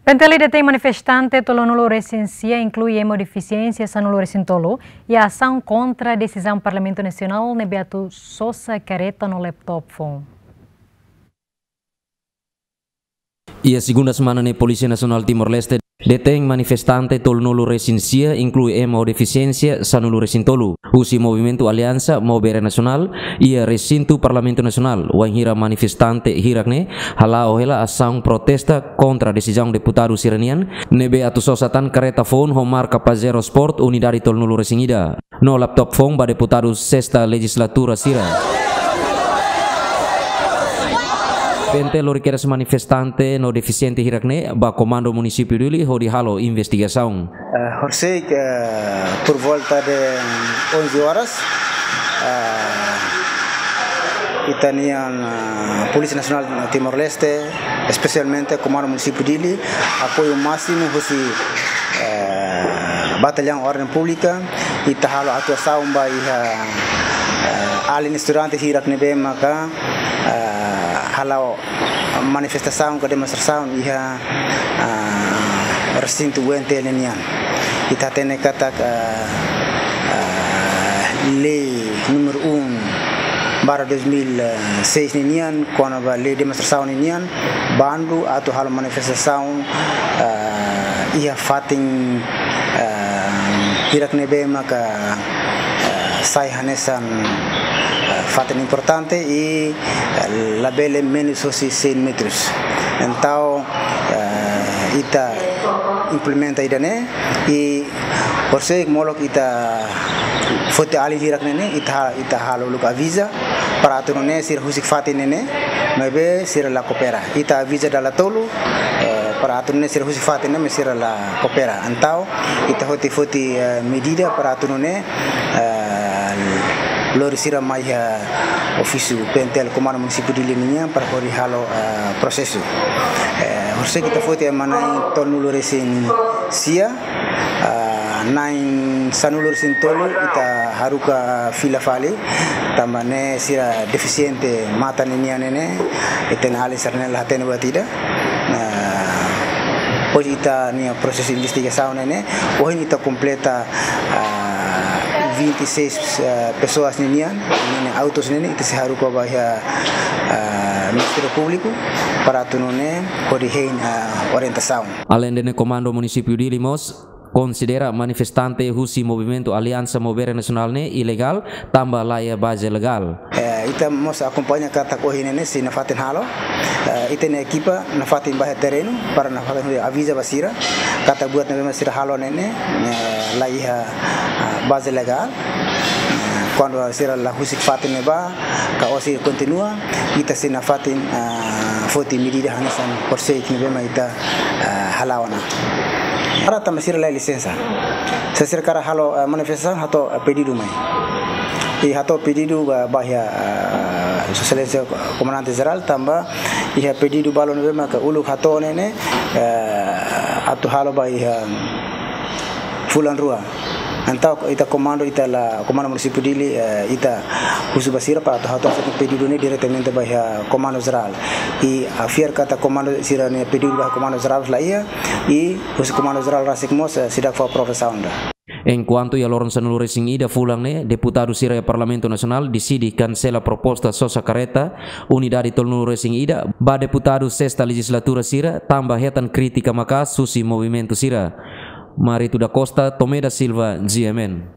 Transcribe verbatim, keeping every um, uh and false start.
PNTL detein manifestante tolunulu-resin-sia, inklui ema ho defisiénsia sanulu-resin-tolu, iha asaun kontra desizaun Parlamentu Nasionál ne'ebé atu sosa kareta no laptop foun. Iha segunda semana ne'e, Polísia Nasionál Timor-Leste detein manifestante tolunulu-resin-sia, inklui ema ho defisiénsia sanulu-resin-tolu, husi Movimentu Aliansa Maubere Nasionál, iha resintu Parlamentu Nasionál, wainhira manifestante hirak ne'e hala'o hela asaun protesta kontra desizaun deputadu sira-nian ne'ebé atu sosa tan kareta foun ho marka Pajero Sport unidade tolunulu-resin-ida no laptop foun ba deputadu sesta lejizlatura sira. PNTL lori kedas manifestante no defisiente hirak ne'e ba Komandu Munisípiu Dili hodi halo investigasaun. Eh, horisehik, eh, por volta de onze horas, eh, ita-nian, eh, Polísia Nasionál Timor-Leste, espesialmente Komandu Munisípiu Dili, apoiu másimu husi, eh, Batallaun Orden Públika, ita halo atuasaun ba iha, eh, alin estudante hirak ne'ebé maka, eh, hala'o manifestasaun ka demonstrasaun iha, ah, resintu U N T L nian. Ita hatene katak, ah, ah, lei númeru um barra dois mil e seis ninian, kona-ba lei demonstrasaun ninian, bandu atu halo manifestasaun, ah, iha fatin, ah, hirak ne'ebé maka, ah, sai hanesan, ah, fatin importante i labele menus hosi cem metros. Entaun, eh, ita implementa ida-ne'e, i horisehik molok ita foti alin hirak ne'e ne'e, ita, ita halo uluk aviza, para atu nune'e sira husik fatin ne'e ne'e, maibé sira la koopera. Ita aviza dala tolu, eh, para atu nune'e sira husik fatin ne'e, maibé sira la koopera. Entaun, ita foti, foti, eh, medida para atu nune'e, eh, lori sira mai iha ofísiu PNTL Komandu Munisípiu Dili nian para hodi halo, eh, prosesu. Eh, horisehik ita foti ema na'in tolunulu-resin-sia, eh, na'in sanulu-resin-tolu ita haruka fila fali, tanba ne'e sira defisiente matan ninian ne'e ne'e, ita-nia alin sira-ne'e la hatene buat ida. Nah, depois ita-nia prosesu investigasaun ne'e ne'e, ohin ita kompleta, ah, vinte e seis, ah, pessoas ninian, ninian autos ne'e ne'e, ita sei haruka ba iha, ah, Ministériu Públiku para atu nune'e hodi hein, ah, orientasaun. Aleinde ne'e, Komandu Munisípiu Dili mós konsidera manifestante husi Movimentu Aliansa Maubere Nasionál ne'e ilegál, tanba laiha baze legál. Eh, ita mós akompaña katak ohin ne'e ne'e sei nafatin halo. Eh, ita-nia ekipa nafatin ba iha terrenu, para nafatin aviza ba sira katak buat ne'ebé mak sira halo ne'e ne'e, eh, laiha, ah, baze legál. Eh, kuandu sira la husik fatin ne'ebá, ka osi kontinua, ita sei nafatin, ah, foti medida hanesan horisehik ne'ebé mak ita, ah, hala'o ona. Para tanba sira laiha lisensa. Se sira hakarak halo, eh, manifestasaun, hato'o, eh, pedidu mai. I hato'o pedidu ba, ba iha, eh, Sua Exelénsia Komandante Jerál, tanba iha pedidu balun ne'ebé maka uluk hato'o ne'e ne'e, eh, atu halo ba iha fulan rua. Entaun ita komandu, ita la, Komandu Munisípiu Dili, eh, ita husu ba sira para atu hato'o pedidu ne'e diretamente ba iha Komandu Jerál. I ha'u fiar katak komandu sira-nia pedidu ba Komandu Jerál laiha, i husi Komandu Jerál rasik mós, eh, seidauk fó aprovasaun ida. Enkuantu iha loron sanulu-resin-ida fulan ne'e, deputadu sira iha Parlamentu Nasionál deside kansela proposta sosa kareta unidade tolunulu-resin-ida ba deputadu sesta lejizlatura sira, tanba hetan krítika maka'as husi movimentu sira. Marito da Costa, Tomé da Silva, G M N.